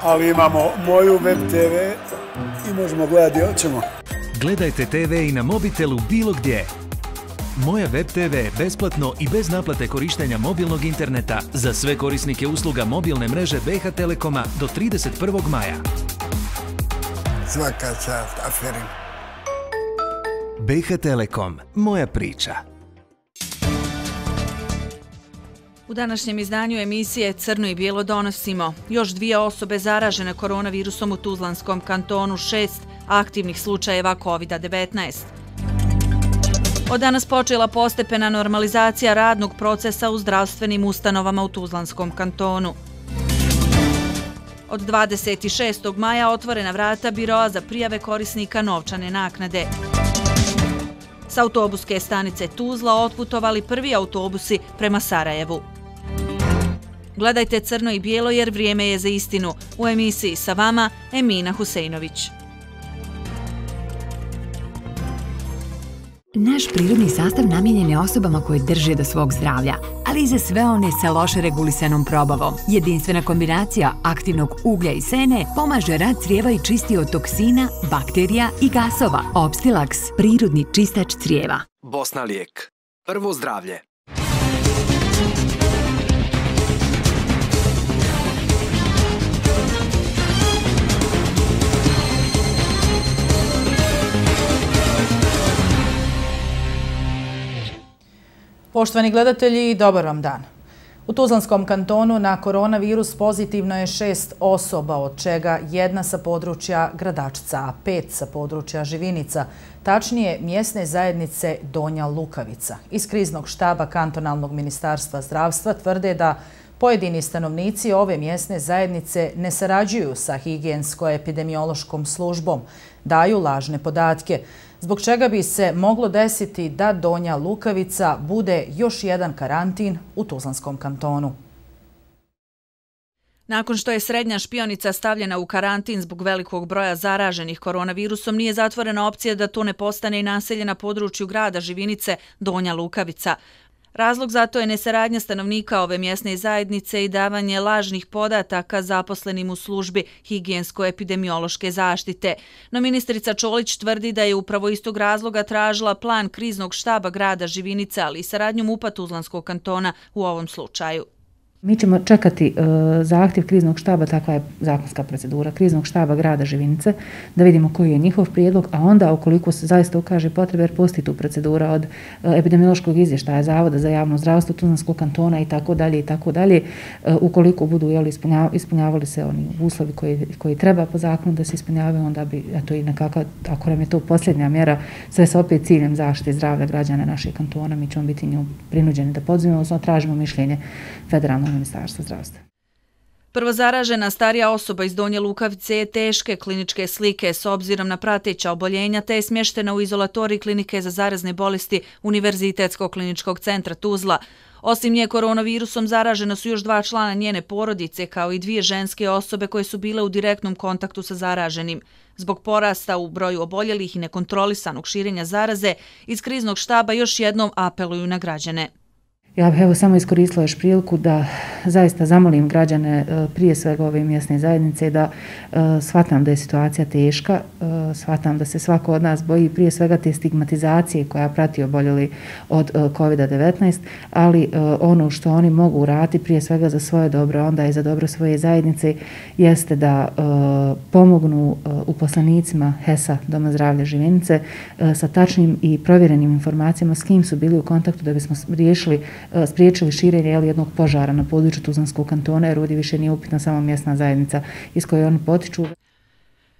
ali imamo moju web TV i možemo gledati gdje hoćemo. Gledajte TV i na mobitelu bilo gdje. Moja web TV je besplatno i bez naplate korištenja mobilnog interneta za sve korisnike usluga mobilne mreže BiH Telekoma do 31. maja. Svaka čast aferin. BiH Telekom, moja priča. U današnjem izdanju emisije Crno i bijelo donosimo još 2 osobe zaražene koronavirusom u Tuzlanskom kantonu, 6 aktivnih slučajeva COVID-19. Od danas počela postepena normalizacija radnog procesa u zdravstvenim ustanovama u Tuzlanskom kantonu. Od 26. maja otvorena vrata biroa za prijave korisnika novčane naknade. S autobuske stanice Tuzla otputovali prvi autobusi prema Sarajevu. Gledajte Crno i bijelo jer vrijeme je za istinu. U emisiji sa vama Emina Huseinović. Naš prirodni sastav namijenjen je osobama koje drže do svog zdravlja, ali i za sve one sa loše regulisanom probavom. Jedinstvena kombinacija aktivnog uglja i sene pomaže rad crijeva i čisti od toksina, bakterija i gasova. Opstilax, prirodni čistač crijeva. Bosna lijek. Prvo zdravlje. Poštovani gledatelji, dobar vam dan. U Tuzlanskom kantonu na koronavirus pozitivno je 6 osoba, od čega 1 sa područja Gradačca, a 5 sa područja Živinica, tačnije mjesne zajednice Donja Lukavica. Iz kriznog štaba kantonalnog ministarstva zdravstva tvrde da pojedini stanovnici ove mjesne zajednice ne sarađuju sa higijensko-epidemiološkom službom, daju lažne podatke, zbog čega bi se moglo desiti da Donja Lukavica bude još jedan karantin u Tuzlanskom kantonu. Nakon što je srednja špionica stavljena u karantin zbog velikog broja zaraženih koronavirusom, nije zatvorena opcija da to ne postane i naselje na području grada Živinice Donja Lukavica. Razlog za to je nesaradnja stanovnika ove mjesne zajednice i davanje lažnih podataka zaposlenim u službi higijensko-epidemiološke zaštite. No ministrica Čolić tvrdi da je upravo iz tog razloga tražila plan kriznog štaba grada Živinice, ali i saradnju MUP-a Tuzlanskog kantona u ovom slučaju. Mi ćemo čekati zahtjev kriznog štaba, takva je zakonska procedura, kriznog štaba grada Živinice, da vidimo koji je njihov prijedlog, a onda ukoliko se zaista ukaže potrebe, jer postoji tu procedura od epidemiološkog izvještaja Zavoda za javno zdravstvo Tuzlanskog kantona i tako dalje, ukoliko budu ispunjavali se oni uslovi koji treba po zakonu da se ispunjavaju, onda bi, eto i nekako, ako nam je to posljednja mjera, sve sa opet ciljem zaštite zdravlja građana našeg kantona, mi ćemo biti nju prinuđeni da podzimimo, odnosno tražimo mišljenje federalnog ministarstva zdravstva. Prvo zaražena starija osoba iz Donje Lukavice je teške kliničke slike s obzirom na prateća oboljenja te je smještena u izolatoriji klinike za zarazne bolesti Univerzitetskog kliničkog centra Tuzla. Osim nje koronavirusom zaražena su još 2 člana njene porodice kao i 2 ženske osobe koje su bile u direktnom kontaktu sa zaraženim. Zbog porasta u broju oboljelih i nekontrolisanog širenja zaraze, iz kriznog štaba još jednom apeluju na građane. Ja bih evo samo iskoristila još priliku da zaista zamolim građane prije svega ove mjesne zajednice da shvatam da je situacija teška, shvatam da se svako od nas boji prije svega te stigmatizacije koja prati oboljeli od COVID-19, ali ono što oni mogu uraditi prije svega za svoje dobro, onda i za dobro svoje zajednice, jeste da pomognu uposlenicima HES-a Doma zdravlja Živinice sa tačnim i provjerenim informacijama s kim su bili u kontaktu da bismo spriječili širenje jednog požara na području Tuzlanskog kantona, jer ovdje više nije upitna samo mjesna zajednica iz koje oni potiču.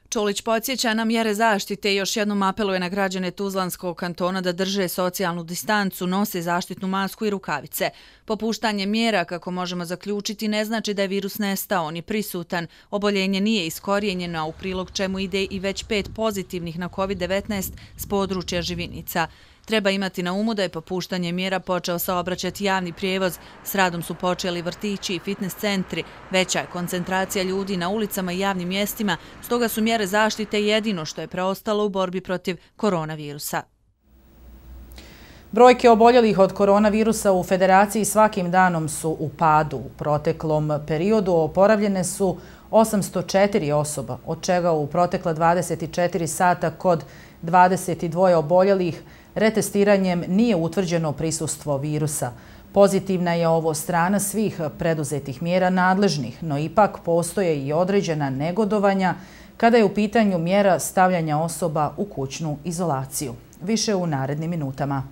Čolić podsjeća na mjere zaštite i još jednom apeluje na građane Tuzlanskog kantona da drže socijalnu distancu, nose zaštitnu masku i rukavice. Popuštanje mjera, kako možemo zaključiti, ne znači da je virus nestao, on je prisutan. Oboljenje nije iskorijenjeno, a u prilog čemu ide i već 5 pozitivnih na COVID-19 s područja Živinica. Treba imati na umu da je popuštanje mjera počeo saobraćati javni prijevoz, s radom su počeli vrtići i fitness centri, veća je koncentracija ljudi na ulicama i javnim mjestima, stoga su mjere zaštite jedino što je preostalo u borbi protiv koronavirusa. Brojke oboljelih od koronavirusa u Federaciji svakim danom su u padu. U proteklom periodu oporavljene su 804 osoba, od čega u protekla 24 sata kod 22 oboljelih retestiranjem nije utvrđeno prisustvo virusa. Pozitivna je ovo strana svih preduzetih mjera nadležnih, no ipak postoje i određena negodovanja kada je u pitanju mjera stavljanja osoba u kućnu izolaciju. Više u narednim minutama.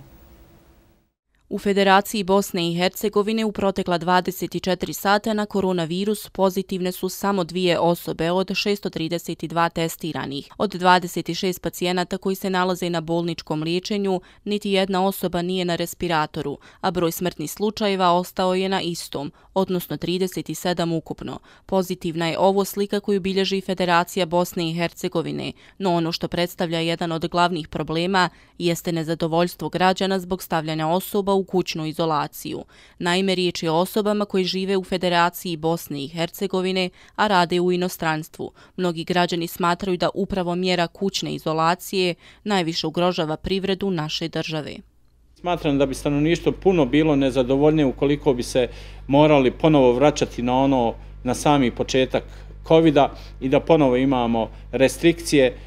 U Federaciji Bosne i Hercegovine u protekla 24 sata na koronavirus pozitivne su samo 2 osobe od 632 testiranih. Od 26 pacijenata koji se nalaze na bolničkom liječenju, niti jedna osoba nije na respiratoru, a broj smrtnih slučajeva ostao je na istom, odnosno 37 ukupno. Pozitivna je ovo slika koju bilježi Federacija Bosne i Hercegovine, no ono što predstavlja jedan od glavnih problema jeste nezadovoljstvo građana zbog stavljanja osoba u kućnu izolaciju. Naime, riječ je o osobama koji žive u Federaciji Bosne i Hercegovine, a rade u inostranstvu. Mnogi građani smatraju da upravo mjera kućne izolacije najviše ugrožava privredu naše države. Smatram da bi stanovništvo puno bilo nezadovoljnije ukoliko bi se morali ponovo vraćati na sami početak COVID-a i da ponovo imamo restrikcije.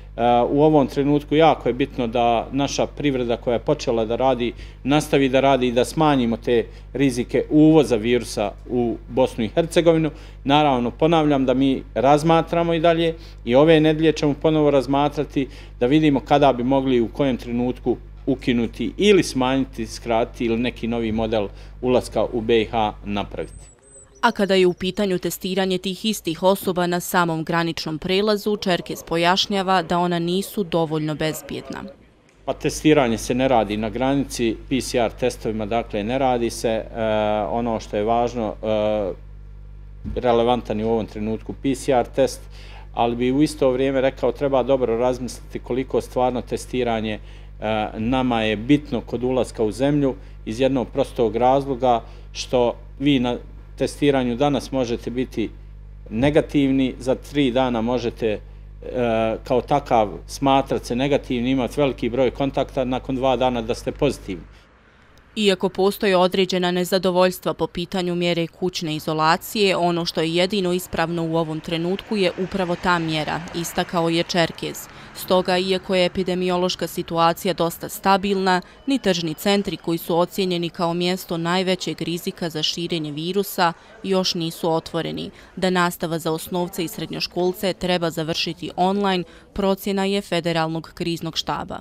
U ovom trenutku jako je bitno da naša privreda koja je počela da radi, nastavi da radi i da smanjimo te rizike uvoza virusa u Bosnu i Hercegovinu. Naravno, ponavljam da mi razmatramo i dalje i ove nedelje ćemo ponovo razmatrati da vidimo kada bi mogli u kojem trenutku ukinuti ili smanjiti, skratiti ili neki novi model ulaska u BiH napraviti. A kada je u pitanju testiranje tih istih osoba na samom graničnom prelazu, Čerkez pojašnjava da ona nisu dovoljno bezbjedna. Pa testiranje se ne radi na granici, PCR testovima, dakle ne radi se. Ono što je važno, relevantan je u ovom trenutku PCR test, ali bi u isto vrijeme rekao treba dobro razmisliti koliko stvarno testiranje nama je bitno kod ulaska u zemlju iz jednog prostog razloga što vi na testiranju danas možete biti negativni, za 3 dana možete kao takav smatrati se negativni, imati veliki broj kontakta, nakon 2 dana da ste pozitivni. Iako postoje određena nezadovoljstva po pitanju mjere kućne izolacije, ono što je jedino ispravno u ovom trenutku je upravo ta mjera, istakao je Čerkez. Stoga, iako je epidemiološka situacija dosta stabilna, ni tržni centri koji su ocijenjeni kao mjesto najvećeg rizika za širenje virusa još nisu otvoreni. Da nastava za osnovce i srednjoškolce treba završiti online, procjena je Federalnog kriznog štaba.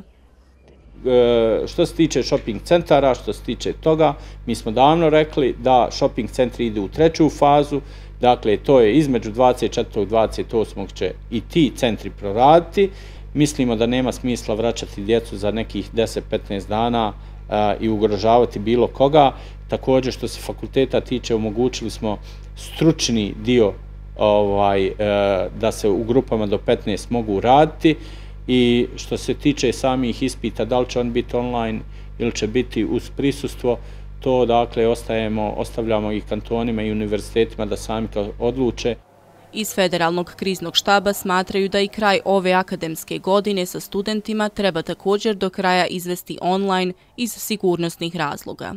Što se tiče shopping centara, što se tiče toga, mi smo davno rekli da shopping centri ide u 3. fazu, dakle to je između 24. i 28. će i ti centri proraditi. Mislimo da nema smisla vraćati djecu za nekih 10-15 dana i ugrožavati bilo koga. Također što se fakulteta tiče, omogućili smo stručni dio da se u grupama do 15 mogu raditi. I što se tiče samih ispita, da li će on biti online ili će biti uz prisustvo, to dakle ostavljamo i kantonima i univerzitetima da sami to odluče. Iz Federalnog kriznog štaba smatraju da i kraj ove akademske godine sa studentima treba također do kraja izvesti online iz sigurnosnih razloga.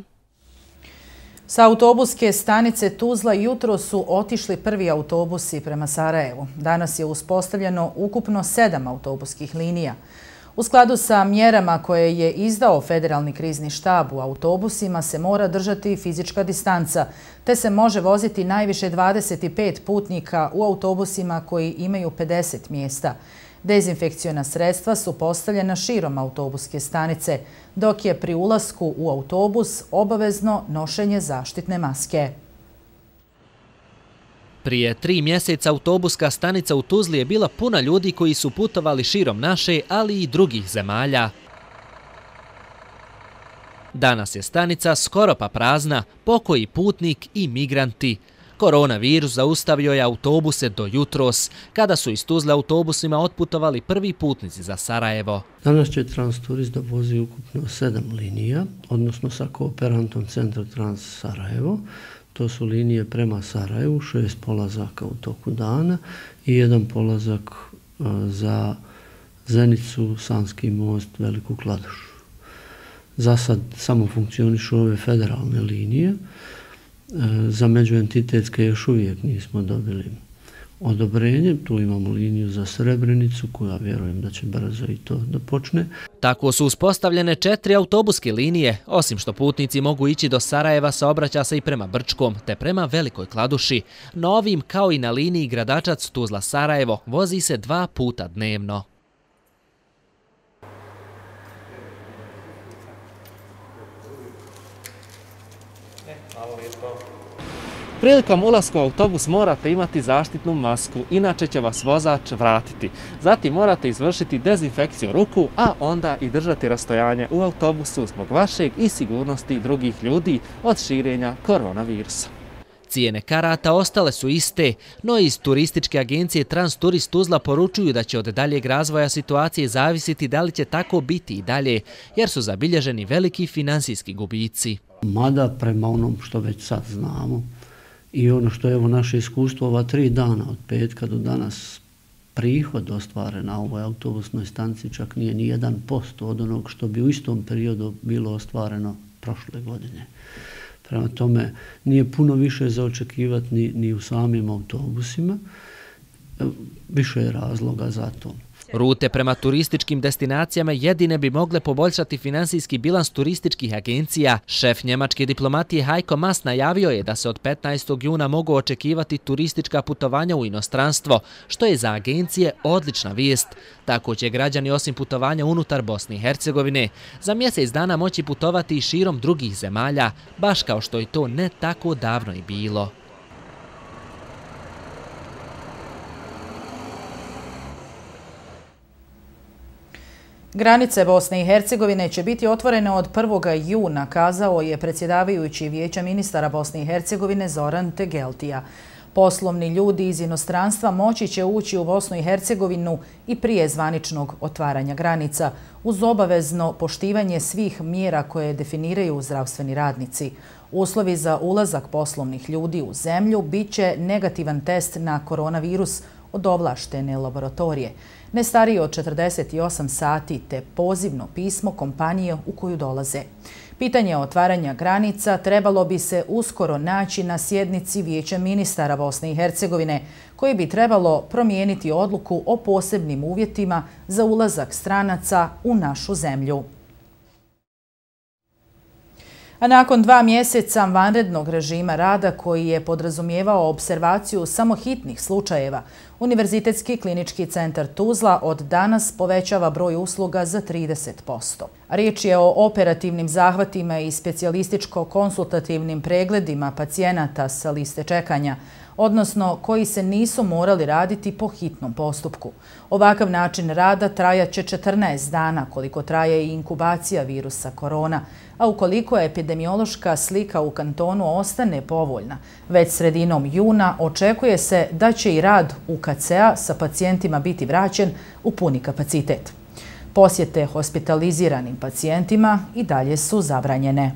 Sa autobuske stanice Tuzla jutro su otišli prvi autobusi prema Sarajevu. Danas je uspostavljeno ukupno 7 autobuskih linija. U skladu sa mjerama koje je izdao Federalni krizni štab, u autobusima se mora držati fizička distanca, te se može voziti najviše 25 putnika u autobusima koji imaju 50 mjesta. Dezinfekciona sredstva su postavljena širom autobuske stanice, dok je pri ulasku u autobus obavezno nošenje zaštitne maske. Prije 3 mjeseca autobuska stanica u Tuzli je bila puna ljudi koji su putovali širom naše, ali i drugih zemalja. Danas je stanica skoro pa prazna, pokoji putnik i migranti. Koronavirus zaustavio je autobuse do jutros, kada su iz Tuzle autobusima otputovali prvi putnici za Sarajevo. Danas će Transturist da vozi ukupno 7 linija, odnosno sa kooperantom Centra Trans Sarajevo. To su linije prema Sarajevu, 6 polazaka u toku dana i 1 polazak za Zenicu, Sanski most, Veliku Kladušu. Za sad samo funkcionišu ove federalne linije. Za međuentitetske još uvijek nismo dobili odobrenje. Tu imamo liniju za Srebrenicu koja vjerujem da će brzo i to da počne. Tako su uspostavljene 4 autobuske linije. Osim što putnici mogu ići do Sarajeva, saobraća se i prema Brčkom te prema Velikoj Kladuši. Na ovim, kao i na liniji Gradačac-Tuzla-Sarajevo, vozi se 2 puta dnevno. Prilikom ulaska u autobus morate imati zaštitnu masku, inače će vas vozač vratiti. Zatim morate izvršiti dezinfekciju ruku, a onda i držati rastojanje u autobusu zbog vašeg i sigurnosti drugih ljudi od širenja koronavirusa. Cijene karata ostale su iste, no iz turističke agencije Transturist Tuzla poručuju da će od daljeg razvoja situacije zavisiti da li će tako biti i dalje, jer su zabilježeni veliki finansijski gubici. Mada prema onom što već sad znamo, i ono što je evo naše iskustvo ova 3 dana od petka do danas, prihod ostvaren na ovoj autobusnoj stanici čak nije ni 1% od onog što bi u istom periodu bilo ostvareno prošle godine. Prema tome nije puno više za očekivati ni u samim autobusima, više je razloga za to. Rute prema turističkim destinacijama jedine bi mogle poboljšati finansijski bilans turističkih agencija. Šef njemačke diplomatije Heiko Maas najavio je da se od 15. juna mogu očekivati turistička putovanja u inostranstvo, što je za agencije odlična vijest. Tako će građani osim putovanja unutar Bosne i Hercegovine za mjesec dana moći putovati i širom drugih zemalja, baš kao što je to ne tako davno i bilo. Granice Bosne i Hercegovine će biti otvorene od 1. juna, kazao je predsjedavajući Vijeća ministara Bosne i Hercegovine Zoran Tegeltija. Poslovni ljudi iz inostranstva moći će ući u Bosnu i Hercegovinu i prije zvaničnog otvaranja granica, uz obavezno poštivanje svih mjera koje definiraju zdravstveni radnici. Uslovi za ulazak poslovnih ljudi u zemlju bit će negativan test na koronavirus od ovlaštene laboratorije, ne stariji od 48 sati te pozivno pismo kompanije u koju dolaze. Pitanje otvaranja granica trebalo bi se uskoro naći na sjednici Vijeća ministara Bosne i Hercegovine, koji bi trebalo promijeniti odluku o posebnim uvjetima za ulazak stranaca u našu zemlju. A nakon 2 mjeseca vanrednog režima rada koji je podrazumijevao observaciju samo hitnih slučajeva, Univerzitetski klinički centar Tuzla od danas povećava broj usluga za 30%. Riječ je o operativnim zahvatima i specijalističko-konsultativnim pregledima pacijenata sa liste čekanja, odnosno koji se nisu morali raditi po hitnom postupku. Ovakav način rada trajaće 14 dana, koliko traje i inkubacija virusa korona, a ukoliko epidemiološka slika u kantonu ostane povoljna, već sredinom juna očekuje se da će i rad UKC-a sa pacijentima biti vraćen u puni kapacitet. Posjete hospitaliziranim pacijentima i dalje su zabranjene.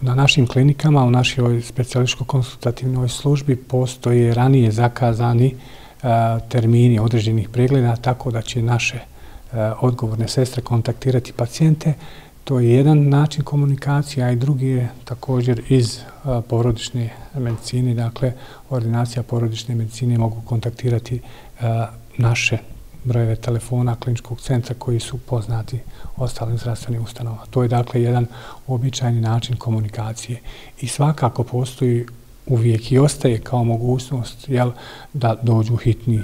Na našim klinikama, u našoj specijalističko-konsultativnoj službi postoje ranije zakazani termini određenih pregleda, tako da će naše odgovorne sestre kontaktirati pacijente. To je jedan način komunikacije, a i drugi je također iz porodične medicine, dakle ordinacija porodične medicine mogu kontaktirati naše brojeve telefona kliničkog centra koji su poznati ostalim zdravstvenim ustanovama. To je dakle jedan uobičajeni način komunikacije i svakako postoji uvijek i ostaje kao mogućnost da dođu hitni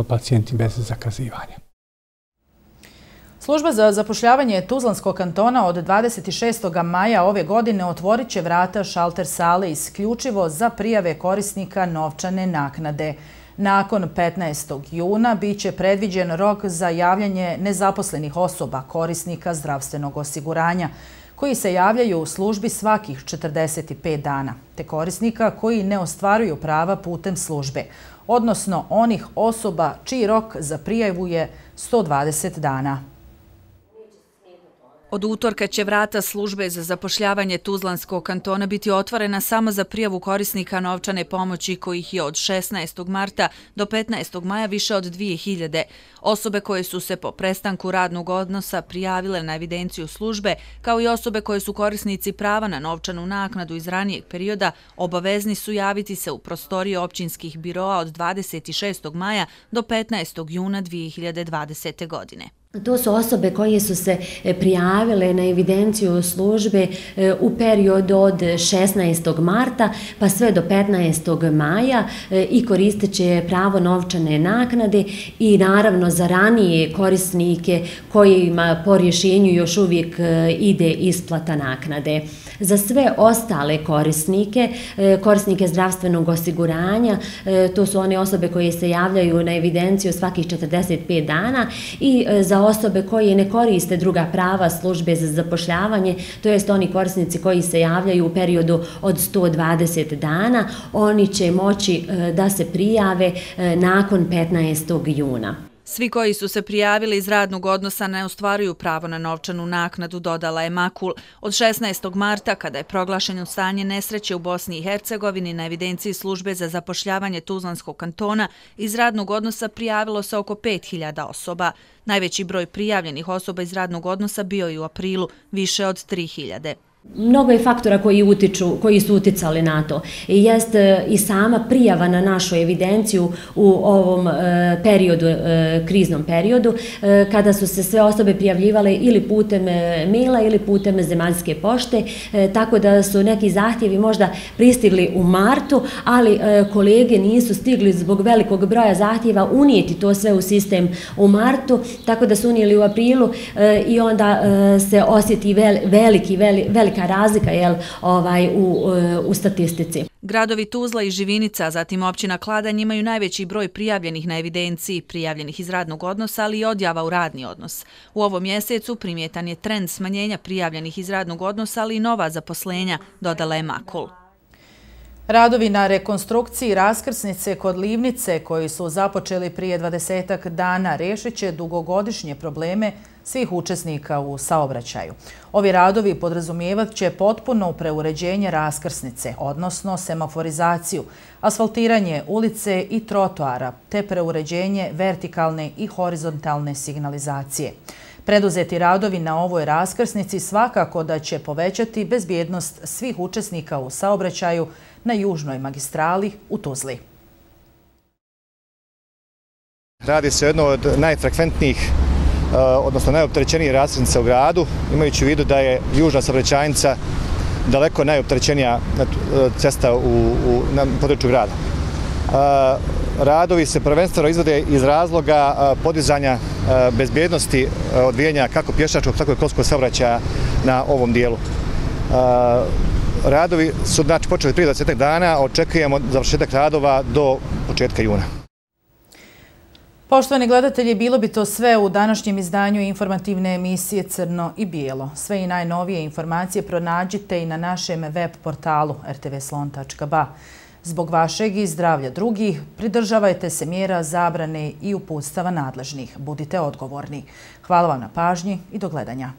pacijenti bez zakazivanja. Služba za zapošljavanje Tuzlanskog kantona od 26. maja ove godine otvorit će vrata šalter sale isključivo za prijave korisnika novčane naknade. Nakon 15. juna bit će predviđen rok za javljanje nezaposlenih osoba korisnika zdravstvenog osiguranja, koji se javljaju u službi svakih 45 dana, te korisnika koji ne ostvaruju prava putem službe, odnosno onih osoba čiji rok za prijavu je 120 dana. Od utorka će vrata službe za zapošljavanje Tuzlanskog kantona biti otvorena samo za prijavu korisnika novčane pomoći kojih je od 16. marta do 15. maja više od 2000. Osobe koje su se po prestanku radnog odnosa prijavile na evidenciju službe, kao i osobe koje su korisnici prava na novčanu naknadu iz ranijeg perioda, obavezni su javiti se u prostorije općinskih biroa od 26. maja do 15. juna 2020. godine. To su osobe koje su se prijavile na evidenciju službe u periodu od 16. marta pa sve do 15. maja i koristit će pravo novčane naknade i naravno za ranije korisnike kojima po rješenju još uvijek ide isplata naknade. Za sve ostale korisnike zdravstvenog osiguranja, to su one osobe koje se javljaju na evidenciju svakih 45 dana i za osobe koje ne koriste druga prava službe za zapošljavanje, to jest oni korisnici koji se javljaju u periodu od 120 dana, oni će moći da se prijave nakon 15. juna. Svi koji su se prijavili iz radnog odnosa ne ostvaruju pravo na novčanu naknadu, dodala je Makul. Od 16. marta, kada je proglašeno stanje nesreće u Bosni i Hercegovini, na evidenciji službe za zapošljavanje Tuzlanskog kantona iz radnog odnosa prijavilo se oko 5000 osoba. Najveći broj prijavljenih osoba iz radnog odnosa bio je u aprilu, više od 3000. Mnogo je faktora koji su uticali na to. Jest i sama prijava na našu evidenciju u ovom kriznom periodu, kada su se sve osobe prijavljivale ili putem maila ili putem zemaljske pošte, tako da su neki zahtjevi možda pristigli u martu, ali kolege nisu stigli zbog velikog broja zahtjeva unijeti to sve u sistem u martu, tako da su unijeli u aprilu i onda se osjeti velika razlika u statistici. Gradovi Tuzla i Živinica, zatim općina Kladanj imaju najveći broj prijavljenih na evidenciji, prijavljenih iz radnog odnosa, ali i odjava u radni odnos. U ovom mjesecu primjetan je trend smanjenja prijavljenih iz radnog odnosa, ali i nova zaposlenja, dodala je Makul. Radovi na rekonstrukciji raskrsnice kod Livnice, koji su započeli prije 20 dana, rešit će dugogodišnje probleme svih učesnika u saobraćaju. Ovi radovi podrazumijevat će potpuno preuređenje raskrsnice, odnosno semaforizaciju, asfaltiranje ulice i trotoara, te preuređenje vertikalne i horizontalne signalizacije. Preduzeti radovi na ovoj raskrsnici svakako da će povećati bezbjednost svih učesnika u saobraćaju na južnoj magistrali u Tuzli. Radi se o jednoj od najfrekventnijih, odnosno najopterećenijih raskrsnica u gradu, imajući u vidu da je južna saobraćajnica daleko najopterećenija cesta na području grada. Radovi se prvenstveno izvode iz razloga podizanja bezbjednosti odvijanja kako pješačkog, tako i kolskog saobraćaja na ovom dijelu. Radovi su počeli prije 20 dana, očekujemo završetak radova do početka juna. Poštovani gledatelji, bilo bi to sve u današnjem izdanju informativne emisije Crno i bijelo. Sve i najnovije informacije pronađite i na našem web portalu rtvslon.ba. Zbog vašeg i zdravlja drugih, pridržavajte se mjera zabrane i uputstava nadležnih. Budite odgovorni. Hvala vam na pažnji i do gledanja.